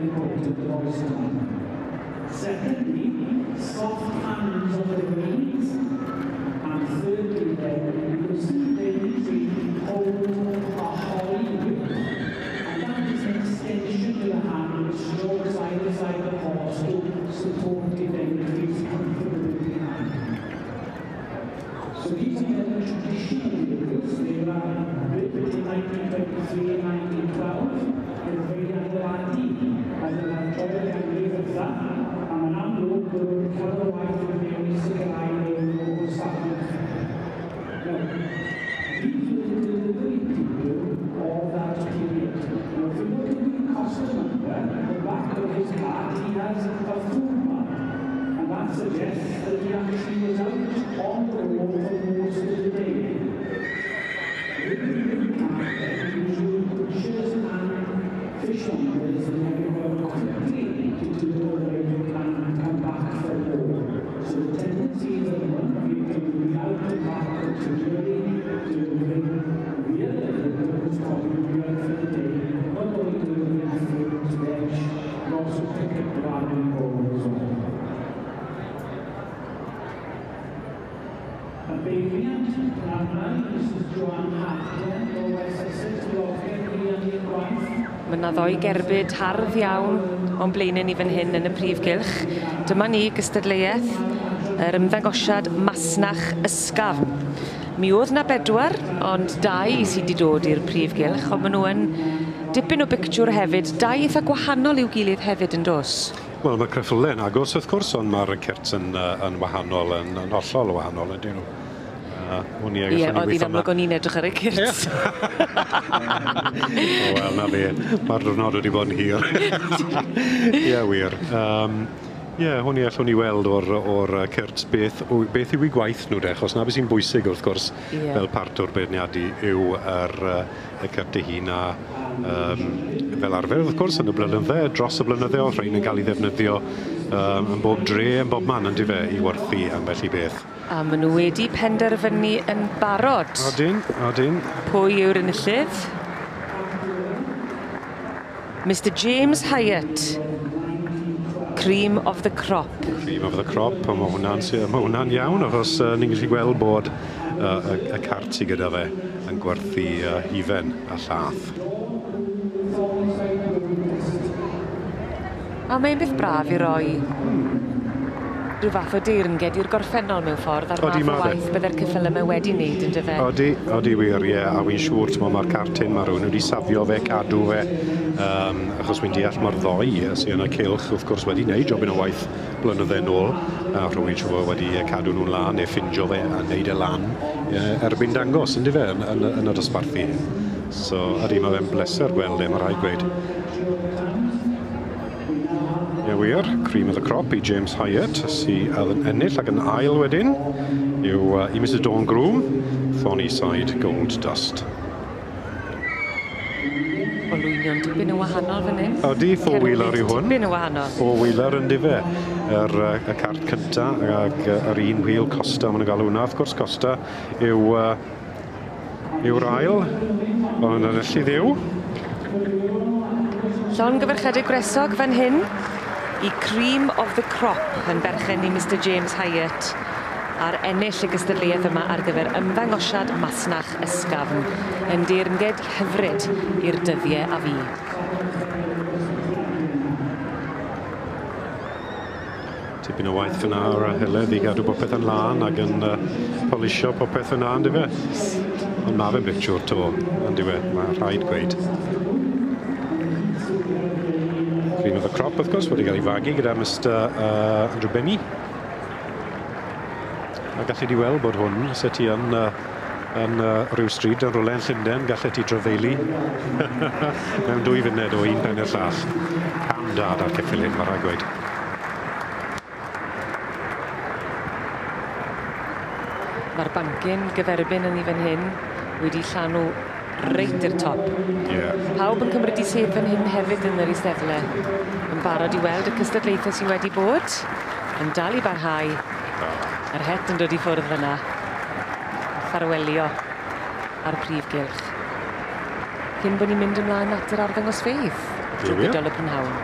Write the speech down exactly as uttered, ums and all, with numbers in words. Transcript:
important voice time. Secondly, soft hands on the reins. And thirdly, then, you can see they usually hold a holly whip. And that is an extension of the hand which strokes either side of the horse to support it and it feels comfortable in the hand. So these are the traditional vehicles. They were built in nineteen twenty-three and nineteen twelve. They were very adeiladu as an adrodd ganrif ydda, a mae'n amlwg bod nhw'n cael y waith yn mewn i sicrhau nhw o safon. Now, these were the delivery people of that period. Now, if you look at the costermonger, the back of his cart, he has a food map. And that suggests that he actually was out on the road for most of the day. With the cart, then, usually butchers and fishmongers and everyone quickly to deliver the and come back for more. So the tendency is that one vehicle will be out and back continually delivering. The other vehicle was probably be out for the day, not only delivering fruit, veg, but also pick up bran and bone as well. A beiriant arna, Missus Joanne Hartland o West Sussex, diolchgar i am i'r gwaith. Mae yna ddoi gerbyd hardd iawn o'n blaenau ni fan hyn yn y prif gylch. Dyma ni gystadleuaeth yr ymddangosiad masnach ysgafn. Mi oedd na bedwar, ond dau sydd wedi dod i'r prif gylch, ond maen nhw yn dipyn o bictiwr hefyd. Dau eitha gwahanol i'w gilydd hefyd yn dos. Wel, mae ceffylau yn agos wrth gwrs, ond mae'r cyrts yn, uh, yn wahanol, yn, yn hollol wahanol, ydyn nhw. Uh, o'n i Ie, allan i oedd hi'n weithio amlwg o'n i'n edrych ar y cyrts. Wel, na fe. Mae'r diwrnod wedi bod yn hir. Ie, wir. Um, Ie, hwn i allwn ni weld o'r, o'r cyrts beth, beth yw eu gwaith nhw de, achos na beth sy'n bwysig wrth gwrs Ie. fel part o'r beirniadu yw yr, y cyrts ei hun a um, fel arfer wrth gwrs yn y blynydde, dros y blynydde oedd rhain yn cael ei ddefnyddio um, yn bob dre, yn bob man yn dyfe, i werthu ambell i beth. A maen nhw wedi penderfynu yn barod. Odyn, odyn. Pwy yw'r enillydd? Mister James Hyatt. Cream of the crop. Cream of the crop, a mae hwnna'n ma hwnna'n iawn, achos uh, ni'n gallu gweld bod uh, y, y cart sydd gyda fe yn gwerthu uh, hufen a llath. A mae'n beth braf i roi rhyw fath o deyrnged i'r gorffennol mewn ffordd a'r Odi, math o ma' fe. waith bydde'r ceffylau yma wedi wneud yn dyfe. Odi, odi wir, ie, a wy'n siŵr, t'mo, mae'r cart hyn, mae rhywun wedi safio fe, cadw fe, um, achos wy'n deall mae'r ddoi sydd yn y cylch, wrth gwrs, wedi wneud jobyn o waith blynydde nôl, a rhywun siŵr fod wedi cadw nhw'n lan, neu ffindio fe a wneud e lan e, erbyn dangos, yn dyfe, yn, yn, yn y dosbarthu. So, ydy, mae fe'n bleser gweld e, mae rhaid gweud. Ie wir, cream of the crop i James Hyatt, sydd yn ennill ac yn ail wedyn, yw uh, i Missus Dawn Groom, Thorny Side Gold Dust. Olwynion dipyn yn wahanol fan hyn. Odi, four-wheeler yw hwn. Dipyn yn wahanol. Four-wheeler yn dyfe. Yr, uh, y cart cynta ag uh, yr un wheel Costa, maen nhw'n galw hwnna. Wrth gwrs, Costa yw, uh, yw'r ail, ond yn enillydd yw. Llongyfarchiadau gwresog fan hyn i Cream of the Crop yn berchen i Mister James Hyatt ar ennill y gystadleuaeth yma ar gyfer ymddangosiad masnach ysgafn yn deyrnged hyfryd i'r dyddiau a fu. Tipyn o waith fyna o'r Heledd i gadw popeth yn lân ac yn uh, polisio popeth yna, yn dyfe? Ond ma' fe'n bictiwr to, yn dyfe? Mae rhaid gweud. Cream of the Crop, wrth gwrs, wedi cael ei fagu gyda Mister uh, Andrew Benny. A gallu di weld bod hwn, se ti yn, uh, yn uh, rhyw stryd yn rhywle yn Llundain, gallu ti drafeili mewn dwy funud o un pen i'r llall. Cam da da'r ceffyl hyn, mae rhaid gweud. Mae'r bancyn gyferbyn yn ei fan hyn wedi llanw reit i'r top. Ie. Pawb yn cymryd i sedd fan hyn hefyd yn yr eisteddle. Yn barod i weld y cystadlaethau sydd wedi bod, yn dal i barhau. Yr het yn dod i ffwrdd fyna. Ffarwelio ar prif gylch. Cyn bod ni'n mynd ymlaen at yr arddangosfeydd drwy Ie, wir. gydol y prynhawn.